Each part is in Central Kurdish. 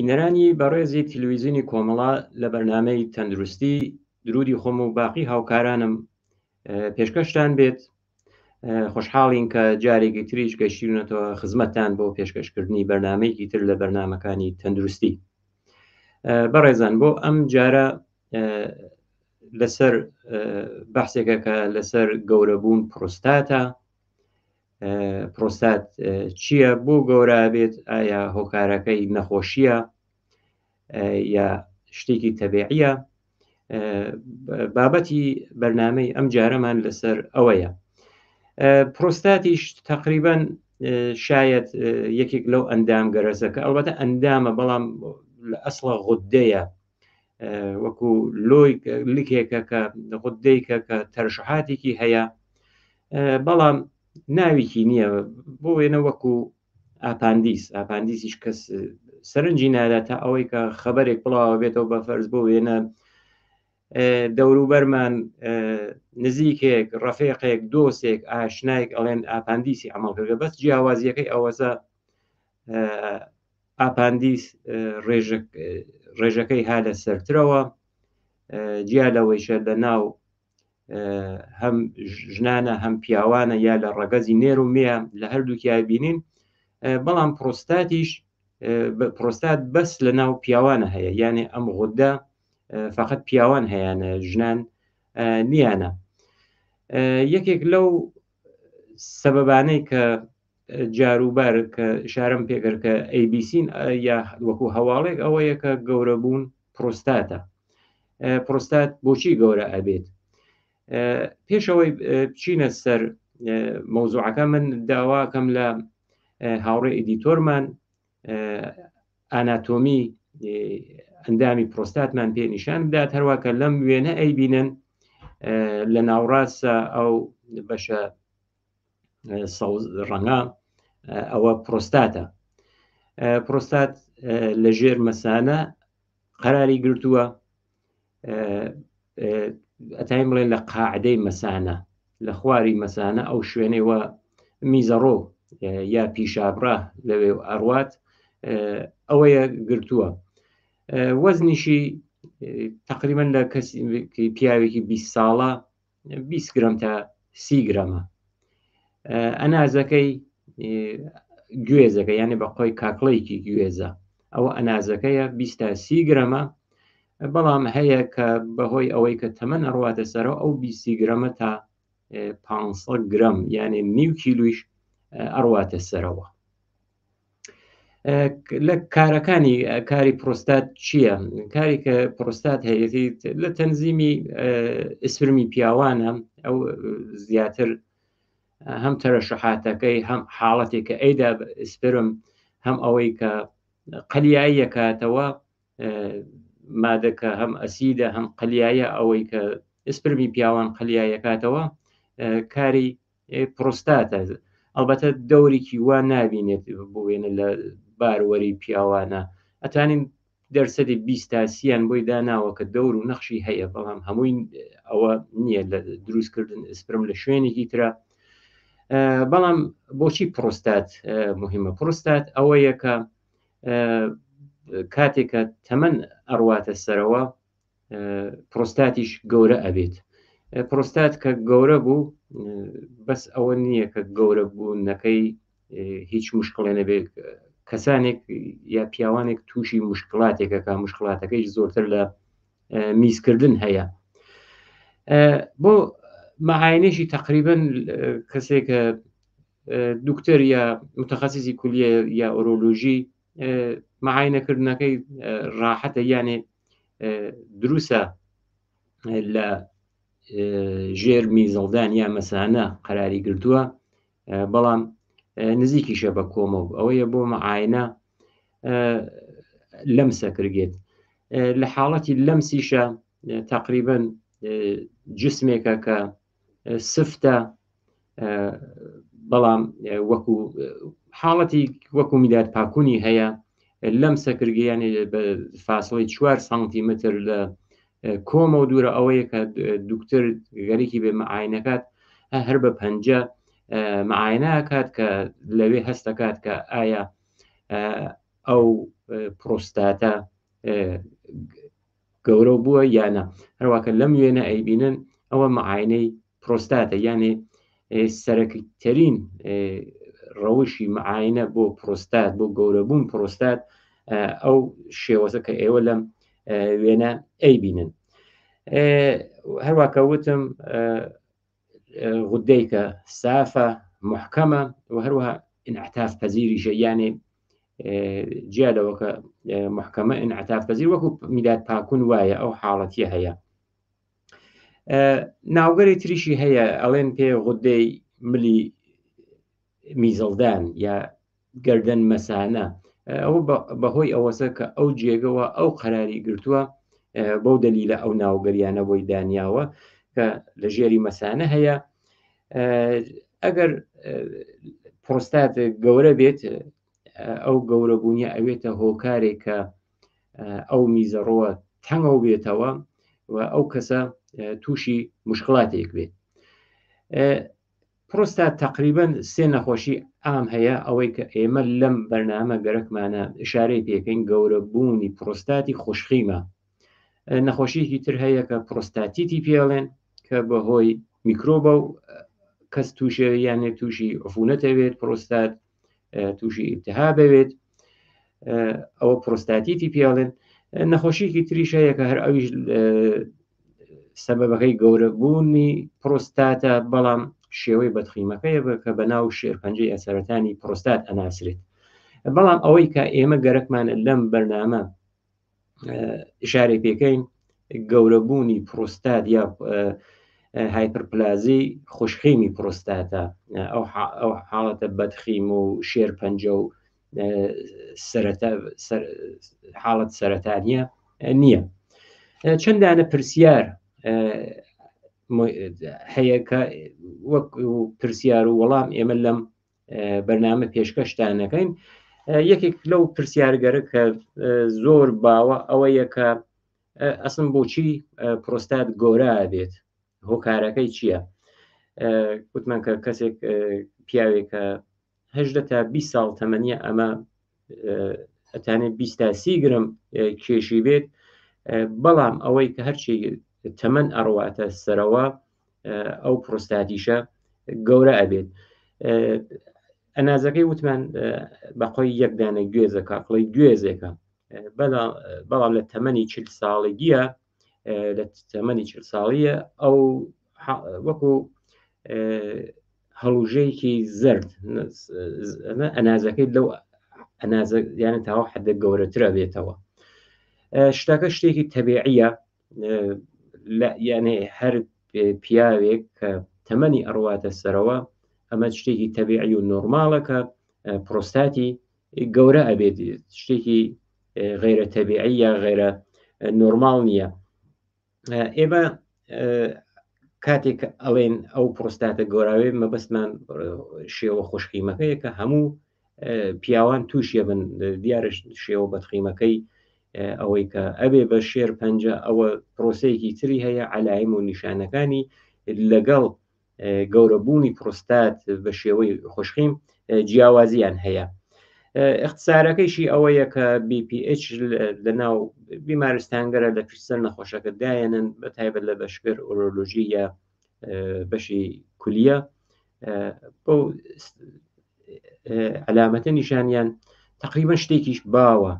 بینەرانی بەڕێزی تلویزیونی کۆمەڵە لە بەرنامەی تەندروستی درودی خۆم و باقی هاوکارانم پێشکەشتان بێت. خۆشحاڵین کە جارێکی تریش گەشتیونەتەوە خزمەتتان بۆ پێشکەشکردنی بەرنمەیەکی تر لە بەرنمەکانی تەندروستی. بەڕێزان بۆ ئەم جارە لەسەر بەحسێکە کە لەسەر گەورەبوون پرۆستاتە. پرۆستات چییە؟ بۆ گەورە بێت؟ ئایا هۆکارەکەی نەخۆشیە یا شتێکی تەبیعیە؟ بابەتی بەرنمەی ئەم جارەمان لەسەر ئەوەیە. پرۆستاتیش تقریبان شاید یەکێک لەو ئەندام گەرەزەکە، ئەلبەتە ئەندامە بەڵام لە ئەسڵە غودەیە، وەکو لۆی لکێکە کە غودەیکە کە تەرشحاتێکی هەیە، بەڵام ناوێکی نییە. بۆ وێنە وەکو ئاپاندیس، ئاپاندیسیش کەس سەرنجی نادا تا ئەوەی کە خەبەرێک بڵاوە بێتەوە بە فەرز بۆ وێنە دەوروبەرمان نزیکێک، ڕەفێقێک، دۆستێک، ئاشنایەک ئەڵێن ئاپاندیسی عمل کردگە. بەس جیاوازیەکەی ئەوەسە ئاپاندیس ڕێژەکەی ها لە سەرترەوە، جیا لەوەیشە لە ناو هەم ژنانە هەم پیاوانە یا لە ڕەگەزی نێر و مێ لە هەردووکیای بینین. بەڵام پرۆستاتیش پرۆستات بەس لە ناو پیاوانە هەیە، یانێ ئەم غودە فقط پیاوان هەیەە، ژنان نییانە. یەکێک لەو سەبەبانەی کە جاروبار کە شارم پێکرد کە ئەیبیسین یا وەکو هەواڵێک ئەوەیە کە گەورە بوون پرۆستاتە. پرۆستات بۆچی گەورە ئەبێت؟ پێشەوەی بچینە سەر مەوزوعەکە من داواکەم لە هاوڕێ ئیدیتۆرمان ئاناتۆمی ئەندامی پرۆستاتمان پێ نیشان بدات. هەروە کە لەم وێنە ئەیبینن لە ناوڕاستە ئەو بەشە سەوز ڕەنگە ئەوە پرۆستاتە. پرۆستات لە ژێر مەسانە قەراری گرتووە، ئەتایم بڵێن لە قاعدەی مەسانە، لە خواری مەسانە ئەو شوێنەوە میزەڕۆ یا پیشابڕە لەوێ ئەڕوات ئەوەیە گرتووە. وەزنیشی تقریبا لە کەسی پیاوێکی 20 ساڵە 20 گرم تا 30 گرەمە. ئەنازەکەی گوێزەکە، یعنی بە قۆی کاکڵێکی گوێزە، ئەوە ئەنازەکەیە 20 تا 30 گرەمە. بەڵام هەیە کە بەهۆی ئەوەی کە تەمەن ئەڕواتە سەرەوە ئەو 20 گرەمە تا 500 گرەم یعنی نیو کیلویش ئەڕواتە سەرەوە. لە کارەکانی کاری پرۆستات چییە؟ کاری کە پرۆستات هەیەی لە تەنزیمی ئیسفرمی پیاوانە، ئەو زیاتر هەم تەرەشحاتەکەی هەم حاڵەتێک کە ئەیدا ئیسپرم، هەم ئەوەی کە قەلیاییەکاتەوە مادەکە هەم ئەسیدە هەم قەلیایە، ئەوەی کە ئیسپرمی پیاوان قەلیایەکاتەوە کاری پرۆستاتە. ئەلبەتە دەورێکی وا نابینێت بۆ وێنە لە باروەری پیاوانە، ئەتوانین دەرسەدی 20 تا سیان بۆی داناوە کە دەور و نەخشی هەیە، بەڵام هەمووی ئەوە نییە لە دروستکردن ئیسپرم لە شوێنێکی ترە. بەڵام بۆچی پرۆستات مهمە؟ پرۆستات ئەوەیە کە کاتێک کە تەمەن ئەڕواتە سەرەوە پرۆستاتیش گەورە ئەبێت. پرۆستات کە گەورە بوو بەس ئەوە نییە کە گەورە بوونەکەی هیچ مشکڵێ نەبێت. کەسانێک یا پیاوانێک تووشی مشکلاتێکە کە مشکلاتەکەی زۆرتر لە میزکردن هەیە. بۆ مەعاینێکی تقریبن کەسێک دکتۆر یا متخصصی کولیە یا ئۆرۆلۆژی مەعاینەکردنەکەی ڕاحەتە، یانێ دروسە لە ژێر میزەڵدان یا مەسانە قەراری گرتووە، بەڵام نزیکیشە بە کۆمەڵ ئەوەیە بۆ مەعاینە لەمسە کردێت. لە حاڵەتی لەمسیشە تقریبا جسمێکە کە سفتە، بەڵام وەکو حاڵەتی وەکو میداد پاکونی هەیە. لەم سەکرگیانی بە فاصلەی 4 سانتیمتر لە کۆمە و دوورە، ئەوەیە کە دکتۆر گەرێکی بێ مەعاینەکات هەر بە پەنجە مەعاینەکات کە لەوێ هەستەکات کە ئایا ئەو پرۆستاتە گەورە بووە یانە هەروواکە لەم وێنە ئەیبینن ئەوە معاینەی پرۆستاتە یانێ سەرەکیترین ڕەوشی معاینە بۆ پرۆستات بۆ گەورەبوون پرۆستات ئەو شێوەزە کە ئێوە لەم وێنە ئەیبینن هەروواکە وتم غودەیکە سافە محکەمە و هەروەها انعتاف پەزیریشە یانێ جیا لەوە کە محکەمە انعتاف پەزیر وەکو میداد پاکون وایە ئەو حاڵەتیە هەیە ناوگەری تریشی هەیە ئەڵێن پێ غودەی ملی میزەڵدان یا گەردەن مەسانە ئەوە بەهۆی ئەوەسە کە ئەو جێگەوە ئەو قەراری گرتووە بەو دەلیلە ئەو ناوگەریانە بۆی دانیاوە کە لە ژێری مەسانە هەیە ئەگەر پرۆستات گەورە بێت ئەو گەورەبوونیە ئەوێتە هۆکارێک کە ئەو میزەڕۆوە تەنگەوە بێتەوە و ئەو کەسە تووشی مشکلاتێک بێت. پرۆستات تەقریبەن سێ نەخۆشی عام هەیە ئەوەی کە ئێمە لەم بەرنامە گەرەکمانە ئشارەی پێکەین گەورە بوونی پرۆستاتی خوشخیمە نەخۆشیەکی تر هەیە کە پرۆستاتیتی پێڵێن کە بەهۆی میکرۆبە و کەس تووشێ یانێ تووشی عفونەتەوێت پرۆستات تووشی ئیتها بەوێت ئەوە پرۆستاتیتی پێڵێن نەخۆشیکی تریش هەیە کە هەر ئەویش سەبەبەکەی گەورەبوونی پرۆستاتە بەڵام شێوەی بەدخیمەکەیە کە بە ناو شێرپەنجەی ئەسەرەتانی پرۆستات ئەناسرێت بەڵام ئەوەی کە ئێمە گەرەکمانە لەم بەرنامە ئشارەی پێکەین گەورەبوونی پرۆستات یا هایپرپلازی خوشخیمی پرۆستاتە ئەو حاڵەتە بەدخیم و شێرپەنجە و حاڵەت سەرەتانیە نییە چەندانە پرسیار هەیە کە وەک پرسیار و وەڵام ئێمە لەم بەرنامە پێشکەشتانەکەین یەکێک لەو پرسیارگەرە کە زۆر باوە ئەوەیە کە ئەسن بۆچی پرۆستات گۆرا بێت هۆکارەکەی چییە؟ وتمان کە کەسێک پیاوێکە هەدە تا 20 ساڵ تەمەنیە ئەمە ئەتانێ 20 تا 30 گرم کێشی بێت بەڵام ئەوەی کە هەرچی تەمەن ئەڕواتە سەرەوە ئەو پرۆستاتیشە گەورە ئەبێت ئەنازەکەی وتمان بەقۆی یەکدانە گوێزە کاکڵی گوێزێکە بەڵام لە تەمەنی چل ساڵگیە لە تەمەنی چل ساڵیە ئەو وەکو هەڵوژەیەکی زرد ئەنازەکەی لەو ئەنازە یانە تاوە حدە گەورەترە بێتەوە شتەکە شتێکی تەبیعیە یانێ هەر پیاوێک کە تەمەنی ئەڕواتە سەرەوە ئەمە شتێکی تەبیعی و نۆرماڵە کە پرۆستاتی گەورە ئەبێت شتێکی غیرە تەبیعی یا غیرە نۆرماڵ نییە ئێمە کاتێک ئەڵێن ئەو پرۆستاتە گۆراوێ مەبەستمان شێوە خۆشخیمەکەیە کە هەموو پیاوان تووشیە بن دیارە شێوە بەتخیمەکەی ئەوەی کە ئەبێ بە شێر پەنجە ئەوە پرۆسەیەکی تری هەیە علایم و نیشانەکانی لەگەڵ گەورەبوونی پرۆستات بە شێوەی خۆشخیم جیاوازیان هەیە اختصارەکەیشی ئەوەیە کە BPH لە ناو بیمارستانگەرە لە پرسەر نەخۆشەکە دایەنن بە تایبەت لە بەشکر ئۆرۆلۆژی یا بەشی کولیە بەو علامەتە نیشانیان تقریبا شتێکیش باوە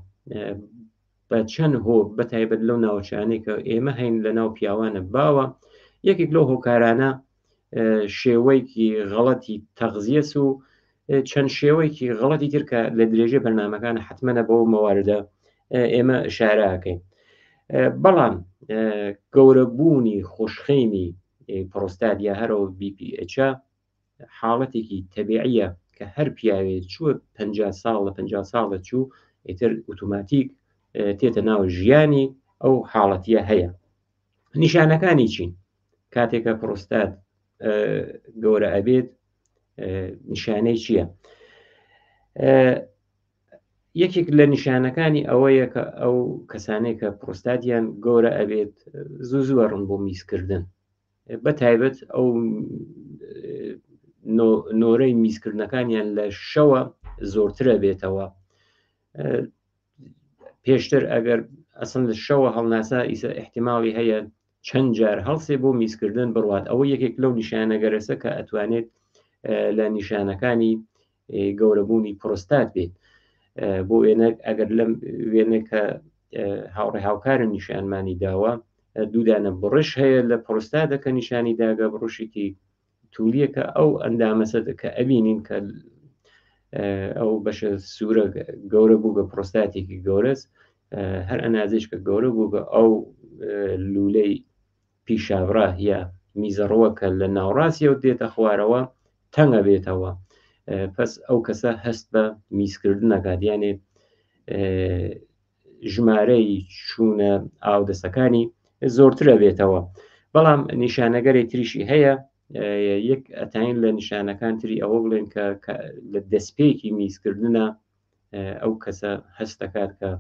بە چەند هۆ بە تایبەت لەو ناوچانەی کە ئێمە هەین لە ناو پیاوانە باوە یەکێک لەو هۆکارانە شێوەیەکی غەڵەتی تەغزیەس و چەند شێوەیەکی غەڵەتی تر کە لە درێژەی بەرنمەکان حتممەە بۆ مەواردە ئێمە شاراکەین بەڵام گەورەبوونی خۆشخێمی پرۆستات یا هەرەوە BPH حاڵەتێکی تەبیعیە کە هەر پیاوێ چووە پ ساڵ لە پ ساڵە چوو ئیتر ئۆتۆماتیک تێتە ناو ژیانی ئەو حاڵەتیە هەیە نیشانەکانی چین کاتێکە پرۆستات گەورە ئەبێت نیشانەی چییە؟ یەکێک لە نیشانەکانی ئەوەیە کە ئەو کەسانێک کە پرۆستاتیان گەورە ئەبێت زوو زووە ڕوون بۆ میزکردن بە تایبەت ئەو نۆرەی میزکردنەکانیان لە شەوە زۆرترە بێتەوە. پێشتر ئەگەر ئەسن لە شەوە هەڵناسا ئیسە احتیمماڵی هەیە چەند جار هەڵسێ بۆ میزکردن بڕوات ئەوە یەکێک لەو نیشانەگەرەسە کە ئەتوانێت لە نیشانەکانی گەورەبوونی پرۆستات بێت بۆ وێنە ئەگەر لەم وێنە کە هاوڕێ هاوکارە نیشانمانی داوە دوودانە بڕش هەیە لە پرۆستاتە کە نیشانی داگە بڕشێکی تولیەکە ئەو ئەندامەسە کە ئەبینین کە ئەو بەشە سوورە گەورە بوو بە پرۆستاتێکی گەورەس هەر ئەنازێش کە گەورە بوو بە ئەو لولەی پیشاوڕە یا میزەڕوە کە لە ناوڕاستیەوە دێتە خوارەوە تەنگە بێتەوە پس ئەو کەسە هەست بە میزکردنەکات یانێ ژمارەی چوونە ئاودەسەکانی زۆرترە بێتەوە بەڵام نیشانەگەری تریشی هەیە یەک ئەتاین لە نیشانەکان تری ئەوە بڵێن کە لە دەستپێکی میزکردنە ئەو کەسە هەست دەکات کە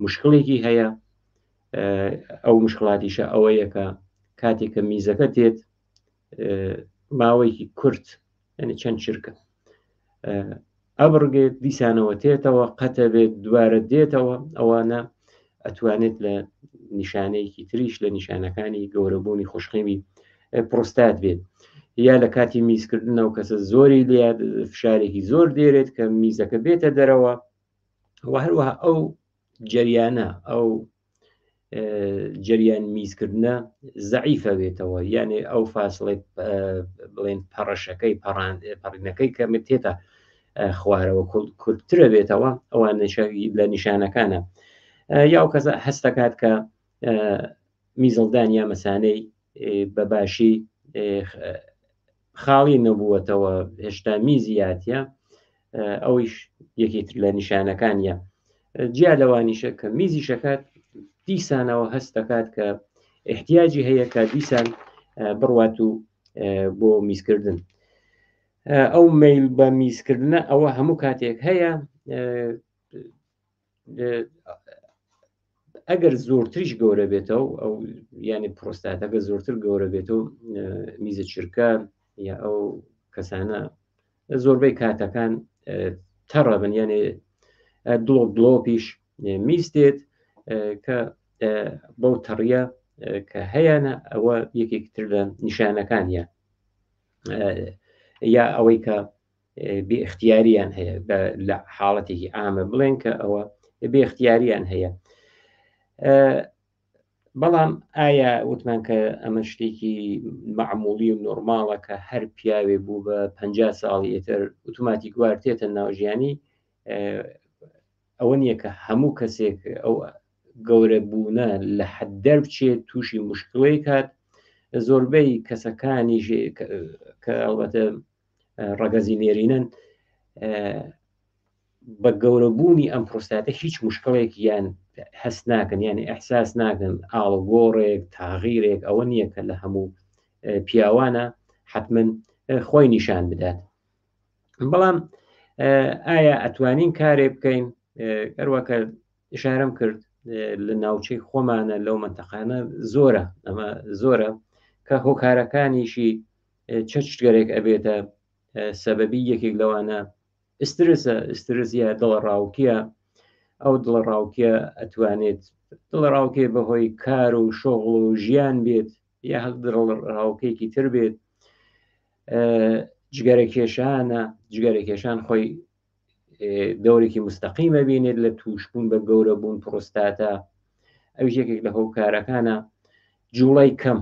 مشکلێکی هەیە ئەو مشکلاتیشە ئەوەیە کە کاتێک کە میزەکە تێت ماوەیەکی کورت یعنی چەند چرکە ئەبڕگێت دیسانەوە تێتەوە قەتە بێت دووارە دێتەوە ئەوانە ئەتوانێت لە نیشانەیەکی تریش لە نیشانەکانی گەورەبوونی خوشقیمی پرۆستات بێت یا لە کاتی میزکردنەوە کەسە زۆری لێ فشارێکی زۆر دێرێت کە میزەکە بێتە دەرەوە و هەروەها ئەو جەریانە ئەو جەریان میزکردنە زەعیفە بێتەوە یانێ ئەو فاسڵی بڵێن پەڕەشەکەی پەڕینەکەی کە تێتە خوارەوە کورتترە بێتەوە ئەوان لە نیشانەکانە یا ئەو کەسە هەستەکات کە میزڵدان یا مەسانەی بە باشی خاڵی نەبووەتەوە هێشتا میزی یاتە ئەویش یەکێتر لە نیشانەکانیە جیا لەوانیشە کە میزی شەکات دیسانەوە هەست دەکات کە احتیاجی هەیە کە دیسان بڕوات و بۆ میزکردن ئەو میل بە میزکردنە ئەوە هەموو کاتێک هەیە ئەگەر زۆرتریش گەورە بێتەوە ئەو یعنی پرۆستاتەکە زۆرتر گەورە بێتەوە میزە چرکە یا ئەو کەسانە زۆربەی کاتەکان تەڕە بن یانێ دڵۆپ دڵۆپیش میز دێت کە بەو تەڕیە کە هەیەە ئەوە یەکێک تر لە نیشانەکانیە یا ئەوەی کە بێ اختیاریان هەیە لە حاڵەتێکی ئامە بڵێن کە ئەوە بێ اختیاریان هەیە بەڵام ئایا وتمان کە ئەمە شتێکی معمولی و نۆرماڵە کە هەر پیاوێ بوو بە پ ساڵی ئێتر ئوتوماتیک وار تێتە ناوژیانی ئەوە نییە کە هەموو کەسێک ئەو گەورە بوونە لە حەد دەربچێت تووشی مشکڵی کات زۆربەی کەسەکانی کە ئەڵبەتە ڕەگەزی نێرینەن بە گەورەبوونی ئەم پرۆستاتە هیچ مشکڵێک یان هەست ناکەن یعنی ئەحساس ناکەن ئاڵگۆڕێک تاغیرێک ئەوە نییە کە لە هەموو پیاوانە حتمما خۆی نیشان بدات بەڵام ئایا ئەتوانین کارێ بکەین هەروەکە ئشارەم کرد لە ناوچەی خۆمانە لەو منتەقانە زۆرە ئەمە زۆرە کە هۆکارەکانیشی چەچگەرێک ئەبێتە سەبەبی یەکێک لەوانە ئسترسە ئسترس یا دڵەڕاوکیە ئەو دڵەڕاوکیە ئەتوانێت دڵەڕاوکێ بەهۆی کار و شۆغڵ و ژیان بێت یا هەر دڵەڕاوکێکی تر بێت جگەرە کێشانە جگەرە کێشان خۆی دەورێکی مستەقیمە بینێت لە تووشبوون بە گەورە بوون پرۆستاتە ئەویش یەکێک لە هۆکارەکانە جوڵەی کەم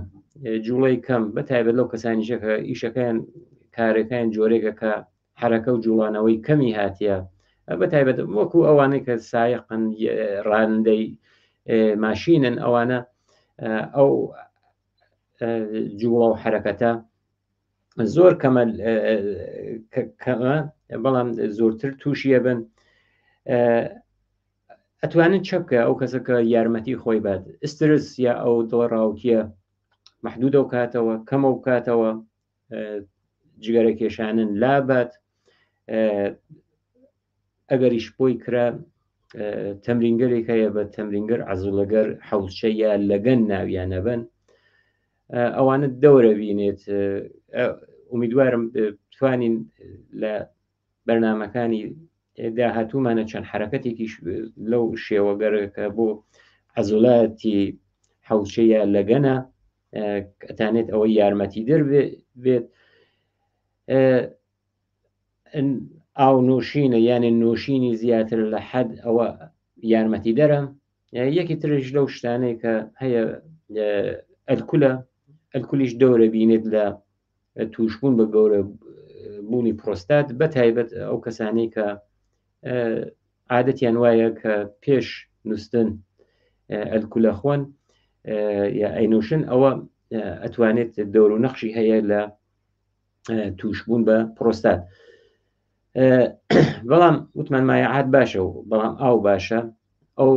جوڵەی کەم بە تایبەت لەو کەسانیشە کە ئیشەکەیان کارەکەیان جۆرێکە کە حرەکە و جوڵانەوەی کەمی هاتیە بە تایبەت وەکو ئەوانەی کە سایقن ڕانندەی ماشینن ئەوانە ئەو جوڵە و حرەکەتە زۆر کەمە کەمە بەڵام زۆرتر تووشیە بن ئەتوانن چە بکە ئەو کەسە کە یارمەتی خۆی بات ئسترس یا ئەو دڵەڕاوکیە محدودە و کاتەوە کەمە و کاتەوە جگەرە کێشانن لابات ئەگەریش بۆی کرا تەمرینگەرێک هەیە بە تەمرینگەر عزوڵەگەر حەوچە یا لەگەن ناویانە بن ئەوانە دەورە بینێت ئومیدوارم توانین لە بەرنمەکانی داهاتوومانە چەند حرەکەتێکیش لەو شێوەگەرەکە بۆ عەزولاتی حەوچەیە لەگەنە ئەتانێت ئەوەی یارمەتی دەر بێت. ئاو نۆشینە یانێ نۆشینی زیاتر لە حەد ئەوە یارمەتی دەرە. یەکی ترش لەو شتانەی کە هەیە ئەلکولە، ئەلکولیش دەورە بینێت لە توشبوون بە گەورە بوونی پرۆستات، بە تایبەت ئەو کەسانەی کە عادەتیان وایە کە پێش نووسن ئەلکولە خۆن یا ئەینوشن، ئەوە ئەتوانێت دەور و نەخشی هەیە لە توشبوون بە پرۆستات. بەڵام وتمان مایعات باشە و بەڵام ئاو باشە. ئەو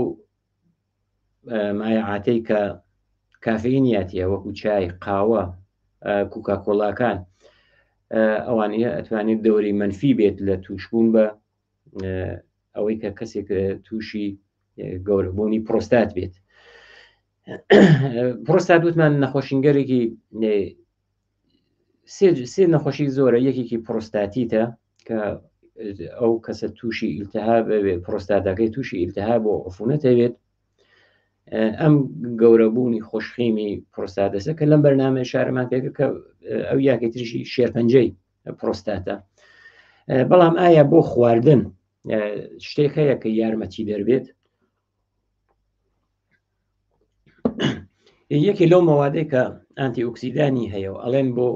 مایعاتەی کە کافئینیاتیە وەکو چای، قاوە، کوکاکۆلاکان، ئەوانەیە ئەتوانێت دەوری منفی بێت لە توشبوون بە ئەوەی کە کەسێک تووشی گەورەبوونی پرۆستات بێت. پرۆستات وتمان نەخۆشینگەرێکی سێ نەخۆشی زۆرە. یەکێکی پرۆستاتیتە کە ئەو کەسە تووشی ئیلتهاب بێت، پرۆستاتەکەی تووشی ئیلتهاب و عفونەت هەبێت. ئەم گەورەبوونی خۆشخیمی پرۆستاتەسە کە لەم بەرنامە شارەمان پێکرد کە ئەو یاکەی تریشی شێرپەنجەی پرۆستاتە. بەڵام ئایا بۆ خواردن شتێک هەیە کە یارمەتی دەربێت؟ یەکێ لەو مەوادەی کە ئانتی ئۆکسیدانی هەیە و ئەڵێن بۆ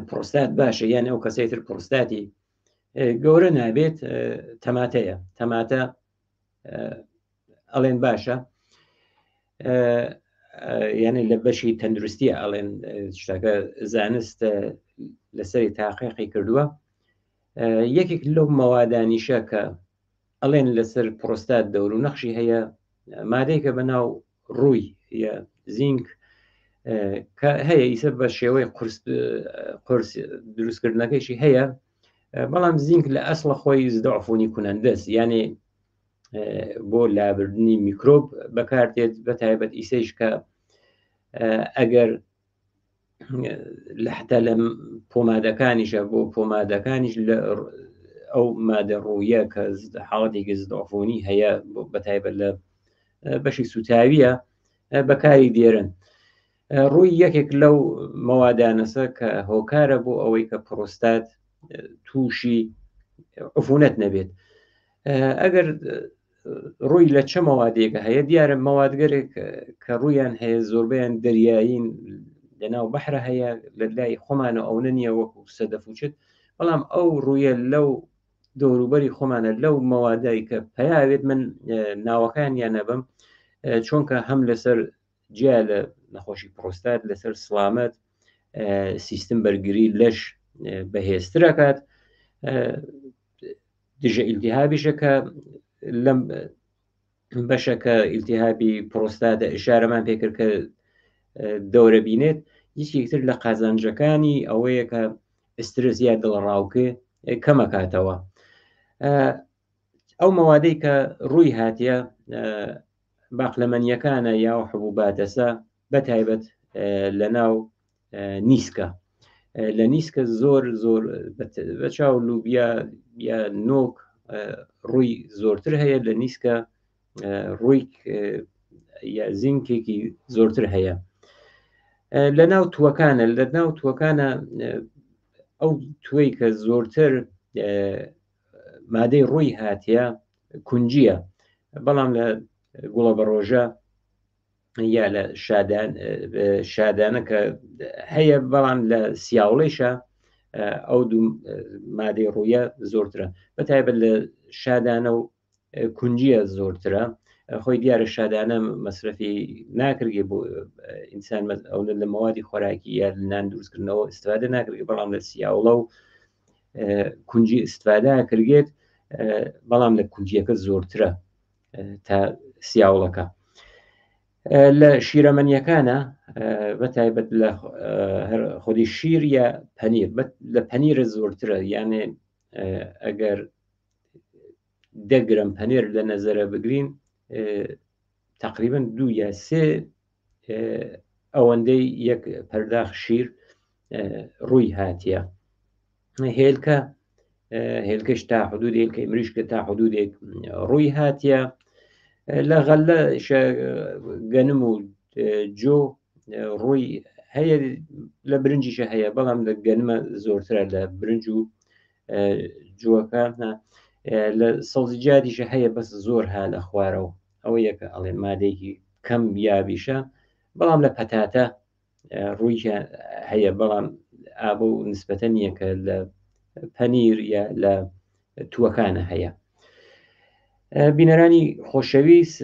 پرۆستات باشە، یان ئەو کەسەی تر پرۆستاتی گەورە نابێت، تەماتەیە. تەماتە ئەڵێن باشە، یعنی لە بەشی تەندروستی ئەڵێن شتەکە زانست لەسەری تاقیقی کردووە. یەکێک لەو مەوادانیشە کە ئەڵێن لەسەر پرۆستات دەور و نەخشی هەیە، مادەیەکە بە ناو ڕووی یا زینک کە هەیە ئیسە بە شێوەی قورس دروستکردنەکەیشی هەیە، بەڵام زینک لە ئەسڵە خۆی زدەعفونی کونەندەس، یعنی بۆ لابردنی میکرۆب بەکارتێت، بە تایبەت ئیسەیش کە ئەگەر لە حتا لە پۆمادەکانیشە، بۆ پۆمادەکانیش لە ئەو مادە ڕوویە کە حاڵەتێکی زدەعفونی هەیە، بە تایبەت لە بەشی سوتاویە بەکاری دێرن. ڕووی یەکێک لەو مەوادانەسە کە هۆکارە بۆ ئەوەی کە پرۆستات تووشی عفونەت نەبێت. ئەگەر ڕووی لە چە مەوادێکە هەیە، دیارە مەوادگەرێک کە ڕوویان هەیە زۆربەیان دەریایین، لەناو بەحرە هەیە، لە لای خۆمانە ئەوە نییە وەکو سەدەفوچت، بەڵام ئەو ڕوویە لەو دەوروبەری خۆمانە لەو مەوادای کە پیاوێت، من ناوەکانیان نەبم، چونکە هەم لەسەر جیا لە نەخۆشی پرۆستات لەسەر سلامەت سیستم بەرگری لەش بەهێزترەکات، دژە ئیلتیهابیشە کە لەم بەشەکە ئیلتیهابی پرۆستاتە ئشارەمان پێکرد کە دەورە بینێت. یەکێکتر لە قازانجەکانی ئەوەیە کە ئسترس یا دڵەڕاوکێ کەمەکاتەوە. ئەو مەوادەی کە ڕووی هاتیە باقلەمەنیەکانە یا حبوباتەسە، بە تایبەت لە ناو نیسکە. لە نیسکە زۆر زۆر بە چاو لوبیا یا نۆک ڕووی زۆرتر هەیە، لە نیسکە ڕووی یا زینکێکی زۆرتر هەیە. لە ناو تووەکانە، لە ناو تووەکانە ئەو توێی کە زۆرتر مادەی ڕووی هاتیە کونجیە، بەڵام لە گوڵە بەڕۆژە یا لە شادانە کە هەیە، بەڵام لە سیاوڵیشە ئەو دوو مادەی ڕوویە زۆرترە، بە تایبەت لە شادانە و کونجیە زۆرترە. خۆی دیارە شادانە مەسرەفی ناکرگێ بۆ ئینسان، ئەو لە مەوادی خۆراکی یا نان دروستکردنەوە استفادە ناکرگێ، بەڵام لە سیاوڵە و کونجی استفادە کردێت، بەڵام لە کونجیەکە زۆرترە تا سیاوڵەکە. لە شیرەمەنیەکانە بە تایبەت لە خودی شیر یا پەنیر، لە پەنیرە زۆرترە، یانێ ئەگەر دەگرم پەنیر لە نەزەرە بگرین تقریبا دوو یا سێ ئەوەندەی یەک پەرداخ شیر ڕووی هاتیە. هێلکە هێلکەش تا حدود هێلکەی مریشکە تا حدودێک ڕووی هاتیە لە غەلە گەنم و جۆ ڕووی هەیە لە برنجیشە هەیە بەڵام لە گەنمە زۆرترە لە برنج و جووەکان لە سەوزیجاتیشە هەیە بەس زۆر ها لە خوارەوە ئەوە یەکە ئەڵێ مادەیەکی کەم یابیشە بەڵام لە پەتاتە ڕووی هەیە بەڵام ئابە و نسبەتە نییە کە لە پەنیر یا لە تووەکانە هەیە بینەرانی خۆشەویست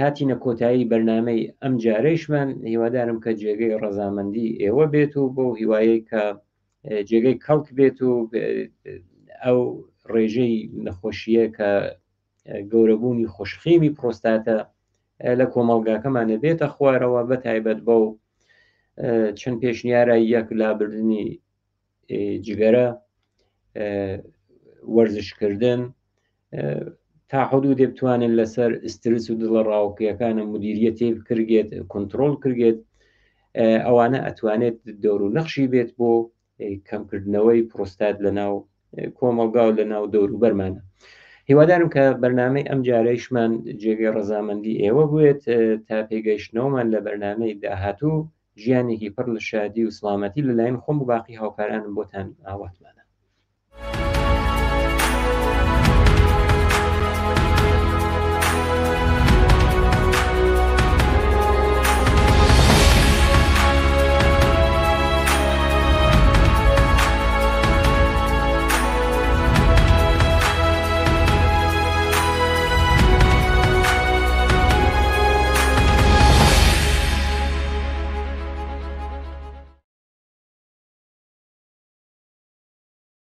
هاتینە کۆتایی بەرنمەی ئەم جارەیشمان هیوادارم کە جێگەی ڕەزامەندی ئێوە بێت و بۆ هیوایەی کە جێگەی کەڵک بێت و ئەو ڕێژەی نەخۆشیە کە گەورەبوونی خۆشخێمی پرۆستاتە لە کۆمەڵگاکەمانە بێتە خوارەوە بە تایبەت بەو چەند پێشنیارە یەک لابردنی جگەرە وەرزشکردن تا حدودێ بتوانن لەسەر ئسترس و دڵە ڕاوکیەکانە مدیریەتێ بکرگێت کۆنتترۆل کردێت ئەوانە ئەتوانێت دەور و نەخشی بێت بۆ کەمکردنەوەی پرۆستات لە ناو کۆمەڵگا و لە ناو دەوروبەرمانە هیوادارم کە بەرنمەی ئەم جارەیشمان جێگەی ڕەزامەندی ئێوە بوێت تا پێگەیشتنەوەمان لە بەرنمەی داهاتوو ژیانێکی پڕ لە شادی و سڵامەتی لەلایەن خۆم و باقی هاوکارانم بۆتان ئاواتمانە.